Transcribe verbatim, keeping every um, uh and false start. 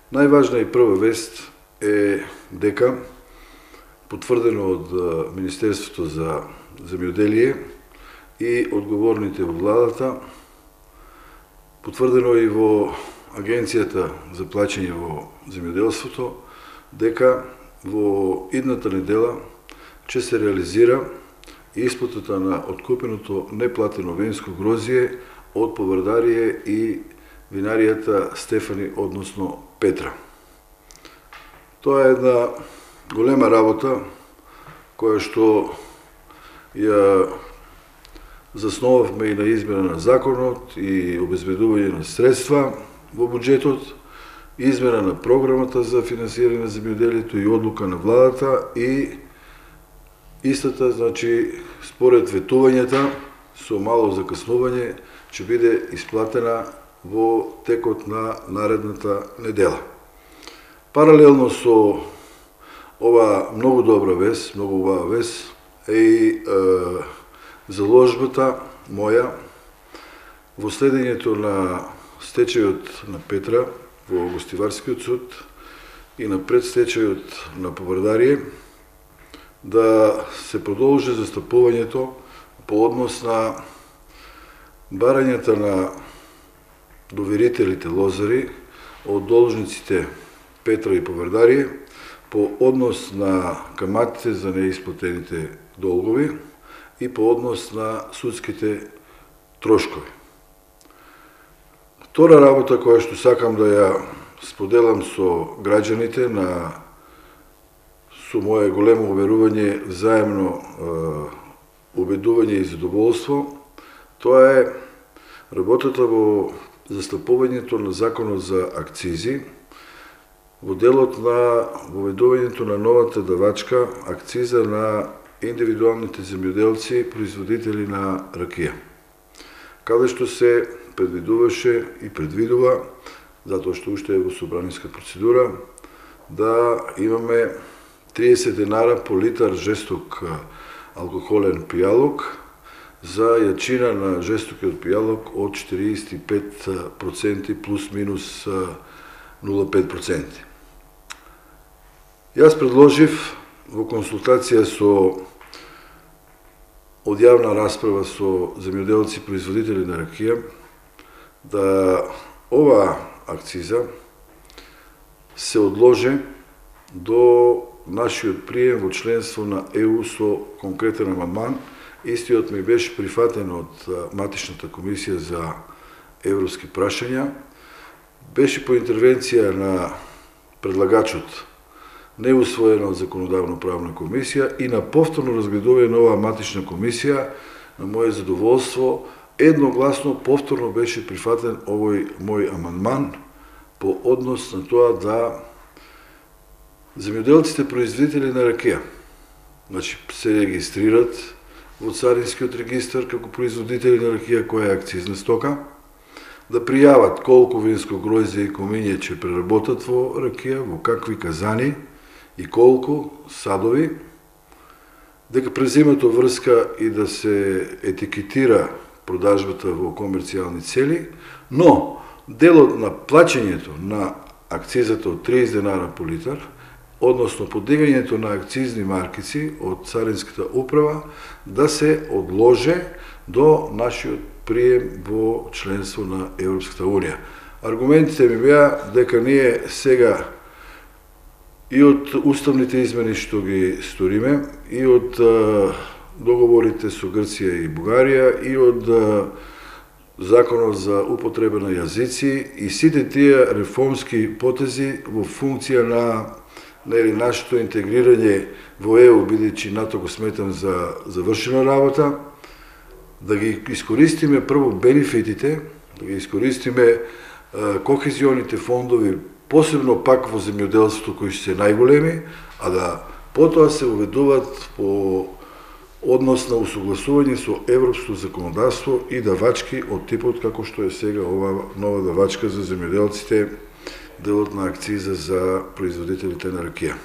Најважна и прва вест е дека потврдено од Министерството за земјоделие и одговорните во владата, потврдено и во Агенцијата за плаќање во земјоделството, дека во идната недела ќе се реализира исплатата на откупеното неплатено винско грозје од Поврдарие и винаријата Стефани, односно Петра. Тоа е една голема работа која што ја засновавме и на измена на законот и обезбедување на средства во буџетот, измена на програмата за финансирање на земјоделието и одлука на владата и истата, значи, според ветувањата, со мало закаснување, ќе биде исплатена во текот на наредната недела. Паралелно со ова многу добра вест, многу убава вест, е и е, заложбата моја во следењето на стечајот на Петра во Гостиварскиот суд и на предстечајот на Поврдарие, да се продолжи застапувањето по однос на барањата на доверителите лозари од должниците Петра и Поврдарие по однос на каматите за неисплатените долгови и по однос на судските трошкови. Втора работа која што сакам да ја споделам со граѓаните на со моје големо уверување, взаемно е, убедување и задоволство, тоа е работата во застапувањето на законот за акцизи, во делот на воведувањето на новата давачка акциза на индивидуалните земјоделци, производители на ракија, каде што се предвидуваше и предвидува, затоа што уште е во собраниска процедура, да имаме триесет денара по литар жесток алкохолен пијалок за јачина на жестокиот пијалок од четириесет и пет проценти плюс минус нула целу пет проценти. Јас предложив во консултација со од јавна расправа со земјоделци производители на ракија да ова акциза се одложи до нашиот прием во членство на Е У со конкретен амандман. Истиот ми беше прифатен од матичната комисија за европски прашања. Беше по интервенција на предлагачот неусвоена од законодавно-правна комисија и на повторно разгледување на оваа матична комисија, на моје задоволство, едногласно повторно беше прифатен овој мој амандман по однос на тоа да земјоделците производители на ракија, значи, се регистрират во царинскиот регистар како производители на ракија која е акцизна стока, да пријават колку винско гројзе и комиње ќе преработат во ракија, во какви казани и колку садови, дека преземат врска и да се етикетира продажбата во комерцијални цели, но делот на плаќањето на акцизата од триесет денара по литар, односно подигањето на акцизни маркици од Царинската управа, да се одложи до нашиот прием во членство на Европската унија. Аргументите ми беа дека ние сега и од уставните измени што ги сториме, и од договорите со Грција и Бугарија, и од законот за употреба на јазици и сите тие реформски потези во функција на нели нашето интегрирање во Е У, бидејќи НАТО го сметам за завршена работа, да ги искористиме прво бенефитите, да ги искористиме кохезионите фондови, посебно пак во земјоделството кои се најголеми, а да потоа се уведуваат по однос на усогласување со европско законодавство и давачки од типот како што е сега ова нова давачка за земјоделците, делот на акциза за производителите на ракија.